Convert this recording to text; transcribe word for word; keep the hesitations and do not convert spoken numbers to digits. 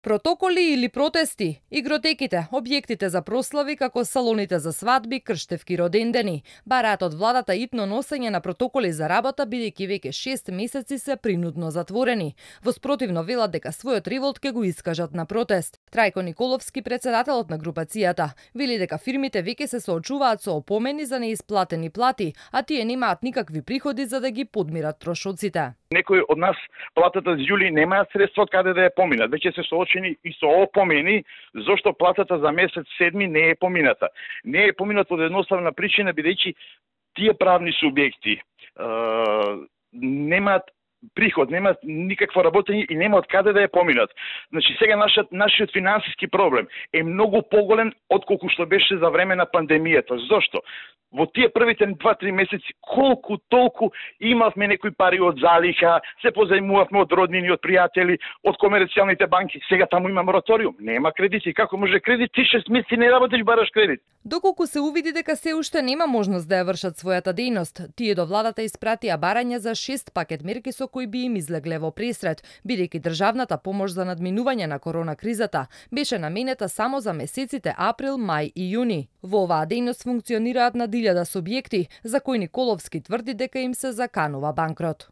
Протоколи или протести, игротеките, објектите за прослави како салоните за свадби, крштевки, родендени, бараат од владата итно носење на протоколи за работа бидејќи веќе шест месеци се принудно затворени. Во спротивно велат дека својот револт ќе го искажат на протест. Трајко Николовски, председателот на групацијата, вели дека фирмите веќе се соочуваат со опомени за неисплатени плати, а тие немаат никакви приходи за да ги подмират трошоците. Некои од нас платата за јули немаат средства од каде да ја поминат. Веќе се соочени и со опомени зошто платата за месец седми не е помината. Не е помината од едноставна причина бидејќи тие правни субјекти е, немаат приход, нема никакво работење и нема од каде да ја поминат. Значи сега нашиот нашиот финансиски проблем е многу поголем отколку што беше за време на пандемијата. Зошто? Во тие првите два-три месеци колку толку имавме некои пари од залиха, се позајмувавме од роднини, од пријатели, од комерцијалните банки. Сега таму има мораториум, нема кредити. Како може кредит? Ти шест месеци не работиш, бараш кредит. Доколку се увиди дека се уште нема можност да ја вршат својата дејност, тие до владата испратија барања за шест пакет мерки со кои би им излегле во пресрет, бидејќи државната помош за надминување на корона кризата беше наменета само за месеците април, мај и јуни. Во оваа дејност функционираат на илјада субјекти, за кои Николовски тврди дека им се заканува банкрот.